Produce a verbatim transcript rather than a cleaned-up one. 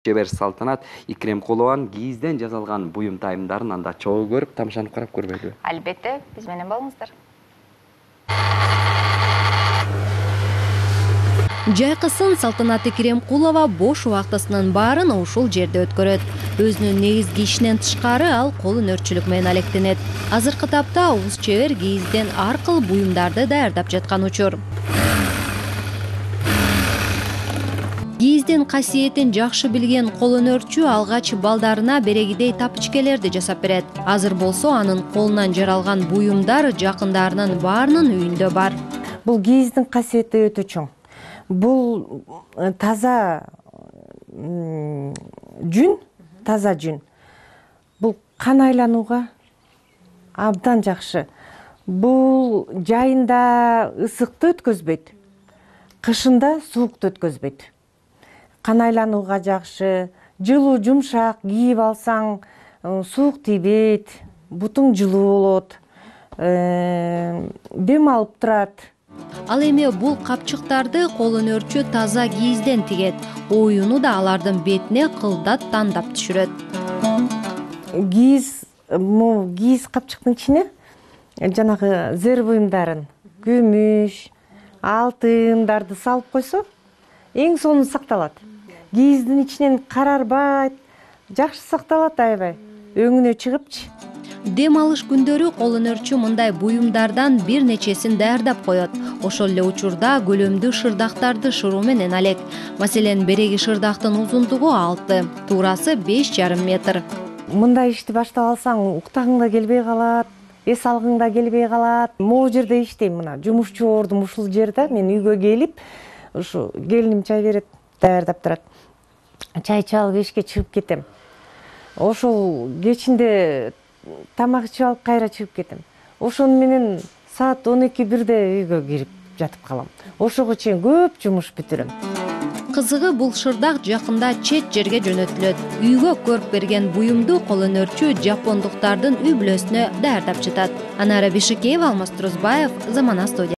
чебер Салтанат Икремкулованын кийизден жасалган буюм тайымдарын анда чогуу көрүп, тамашанып карап көрбөйлүбү? Албетте, биз менен болуңуздар. Жайкысын Салтанат Икремкулова бош убактысынын баарын ушул жерде өткөрөт. Өзүнүн негизги ишинен тышкары ал кол өнөрчүлүк менен алектенет. Азыркы тапта уз чебер кийизден ар кыл буюмдарды даярдап жаткан учур. Кийиздин касиетин жакшы билген кол өнөрчү алгач балдарына берегидей тапичкелерди жасап берет. Азыр болсо анын колунан жаралган буюмдар жакындарынын баарынын үйүндө бар. Бул кийиздин касиети өтө чоң. Бул таза жүн, таза жүн. Бул кан айланууга абдан жакшы. Бул жайында ысыкты өткөзбөйт, кышында суукту өткөзбөйт. Кан айланууга жакшы, жылуу жумшак кийип алсаң, суук тийбейт, бутуң жылуу болот, дем алып турат. Ал эми бул капчыктарды кол өнөрчү таза кийизден тигет. Оюну да алардын бетине кылдат тандап түшүрөт. Кийиз, могу кийиз капчыктын ичине жанагы зер буюмдарын, күмүш, алтындарды салып койсо, эң сонун сакталат. Кийиздин ичинен карарбайт, жакшы сакталат аябай. Өңүнө чыгыпчы. Дем алыш күндөрү кол өнөрчү мындай буюмдардан бир нечесин даярдап коет. Ошол эле учурда көлөмдүү шырдактарды шыруу менен алек. Маселен, береги шырдактын узундугу алты, туурасы беш жарым метр. Мындай ишти баштап алсаң, уктагың да келбей калат, эс алгың да келбей калат. Могу жерде иштейм, мына жумушчу ордум ушул жерде. Мен үйгө келип, ушу келиним чай берет, даярдап турат. Чай ичип алып эшикке чыгып кетем. Ошол кечинде тамак ичип алып кайра чыгып кетем. Ошону менен саат он эки бирде үйгө кирип жатып калам. Ошого чейин көп жумуш бүтүрөм. Кызыгы бул шырдак жакында чет жерге жөнөтүлөт. Үйгө көрүп берген буюмду кол өнөрчү жапондуктардын үй бүлөсүнө даярдап жатат. Анара Бишикеева, Алмаз Турузбаев, Замана студия.